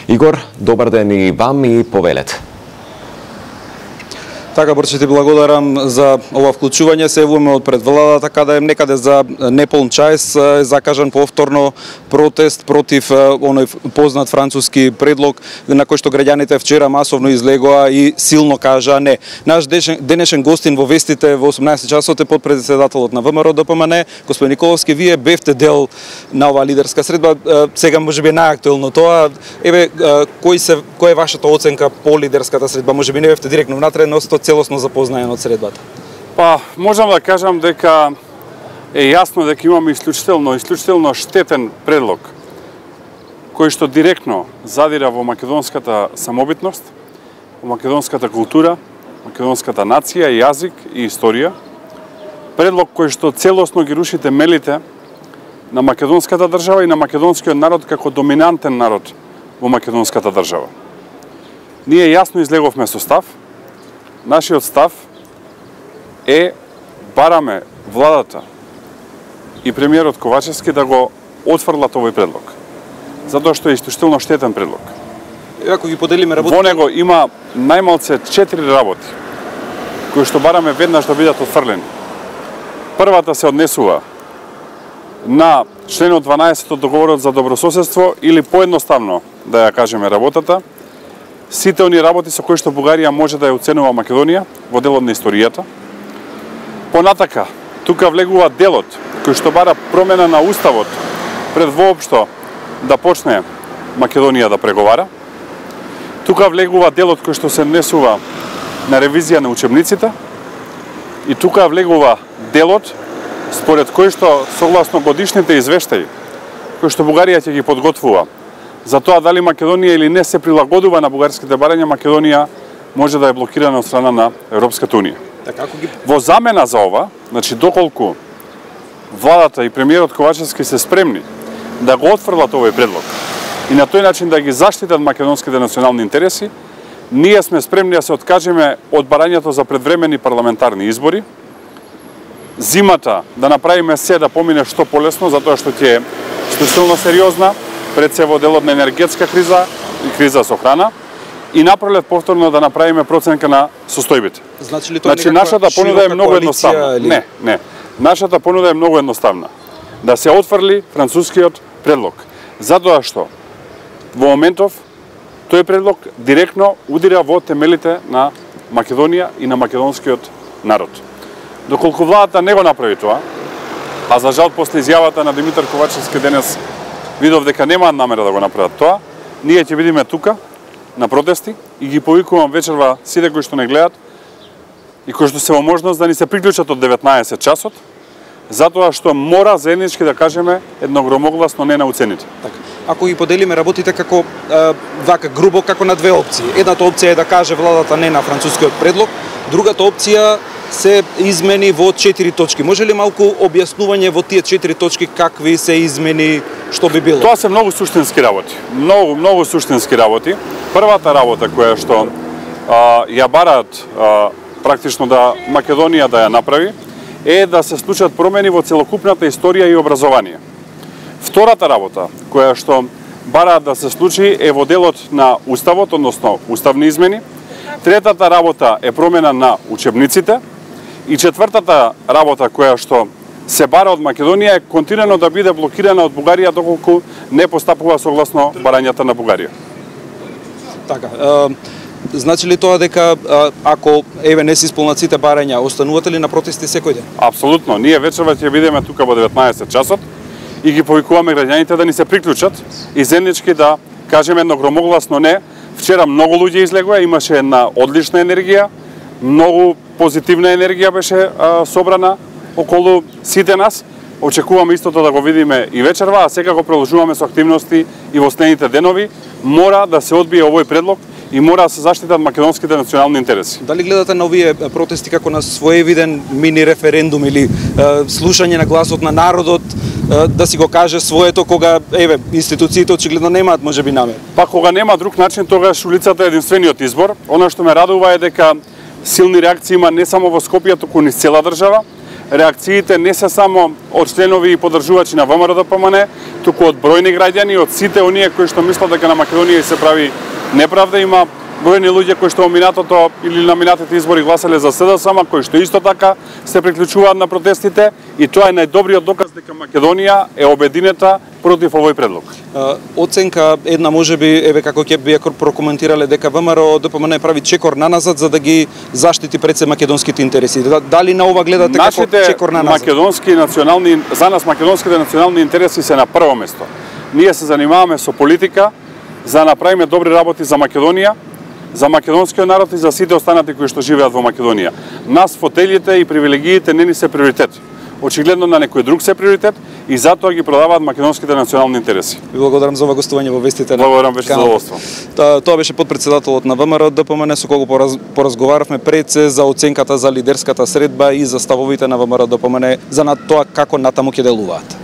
Игор, добар ден и вам и повелете. Така, Борче, ти благодарам за ова вклучување. Се явуваме од пред владата, каде некаде за неполн час закажан повторно протест против оној познат француски предлог на кој што граѓаните вчера масовно излегоа и силно кажа не. Наш денешен гостин во вестите во 18 часот е подпредседателот на ВМРО ДПМН, господин Николовски. Вие бевте дел на оваа лидерска средба. Сега можеби најактуелно тоа. Еве, кој е вашата оценка по лидерската средба? Можеби не бевте директно внатре, но целосно запознаен од средбата. Па, можам да кажам дека е јасно дека имаме исклучително штетен предлог кој што директно задира во македонската самобитност, во македонската култура, македонската нација, јазик и историја. Предлог кој што целосно ги руши темелите на македонската држава и на македонскиот народ како доминантен народ во македонската држава. Ние јасно излеговме со став. Нашиот став е бараме владата и премиерот Ковачевски да го отфрлат овој предлог. Затоа што е исклучително штетен предлог. Ако ги поделиме работи... Во него има најмалце 4 работи кои што бараме веднаш да бидат отфрлени. Првата се однесува на членот 12 од договорот за добрососедство или поедноставно да ја кажеме работата, сите они работи со кои што Бугарија може да ја оценува Македонија во делот на историјата. Понатака, тука влегува делот кој што бара промена на уставот пред воопшто да почне Македонија да преговара. Тука влегува делот кој што се однесува на ревизија на учебниците. И тука влегува делот според кој што согласно годишните извештаи кои што Бугарија ќе ги подготвува за тоа дали Македонија или не се прилагодува на бугарските барања, Македонија може да е блокирана од страна на Европската унија. Во замена за ова, значи доколку владата и премиерот Ковачевски се спремни да го отфрлат овој предлог и на тој начин да ги заштитат македонските национални интереси, ние сме спремни да се откажеме од барањето за предвремени парламентарни избори. Зимата да направиме се да помине што полесно, затоа што ќе е исклучително сериозна, пред се во делот на енергетска криза и криза со храна, и напролет повторно да направиме проценка на состојбите. Значи нашата понуда е многу едноставна. Или... Не. Нашата понуда е многу едноставна. Да се отфрли францускиот предлог. Затоа што во моментов тој предлог директно удира во темелите на Македонија и на македонскиот народ. Доколку владата не го направи тоа, а за жал после изјавата на Димитар Ковачевски денес видов дека немаат намера да го направат тоа, ние ќе бидеме тука на протести и ги повикувам вечерва сите кои што не гледат и кои што се во можност да ни се приклучат од 19 часот, затоа што мора заеднички да кажеме едногромогласно не на уцените. Така. Ако ги поделиме работите како вака грубо како на две опции. Едната опција е да каже владата не на францускиот предлог, другата опција се измени во 4 точки. Може ли малку објаснување во тие 4 точки какви се измени, што би било? Тоа се многу суштински работи. Многу суштински работи. Првата работа која што ја бараат практично да Македонија да ја направи е да се случат промени во целокупната историја и образование. Втората работа која што бараат да се случи е во делот на уставот, односно уставни измени. Третата работа е промена на учебниците. И четвртата работа која што се бара од Македонија е континуирано да биде блокирана од Бугарија доколку не постапува согласно барањата на Бугарија. Така, значи ли тоа дека ако не се исполнат сите барања, останувате ли на протести секој ден? Апсолутно. Ние вечерва ќе бидеме тука во 19 часот и ги повикуваме граѓаните да ни се приклучат и заеднички да кажеме едногромогласно не. Вчера многу луѓе излегоа, имаше една одлична енергија, многу позитивна енергија беше собрана околу сите нас. Очекуваме истото да го видиме и вечерва, а сега го продолжуваме со активности и во следните денови. Мора да се одбие овој предлог и мора да се заштитат македонските национални интереси. Дали гледате на овие протести како на своевиден мини референдум или слушање на гласот на народот, да си го каже своето кога институциите очигледно немаат можеби намер? Па кога нема друг начин, тогаш улицата е единствениот избор. Она што ме радува е дека силни реакции има не само во Скопје, туку низ цела држава. реакциите не се само од членови и поддржувачи на ВМРО-ДПМН, туку од бројни граѓани, од сите оние кои што мислат дека на Македонија се прави неправда. Има бројни луѓе кои што во минатото или на минатите избори гласале за СДСМ, кои што исто така се приклучуваат на протестите, и тоа е најдобриот доказ дека Македонија е обединета против овој предлог. Оценка една можеби, еве како ќе би прокоментирале дека ВМРО-ДПМН прави чекор наназад за да ги заштити пред се македонските интереси. Дали на ова гледате како чекор наназад? Македонски национални, за нас македонските национални интереси се на прво место. Ние се занимаваме со политика за да направиме добри работи за Македонија, за македонскиот народ и за сите останати кои што живеат во Македонија. Нас фотелите и привилегиите не ни се приоритет. Очигледно на некој друг се приоритет и затоа ги продаваат македонските национални интереси. Ви благодарам за ова гостување во вестите. Благодарам, беше задоволство. Тоа беше потпредседателот на ВМРО-ДПМН со кого поразговаравме пред се за оценката за лидерската средба и за ставовите на ВМРО-ДПМН за тоа како натаму ќе делуваат.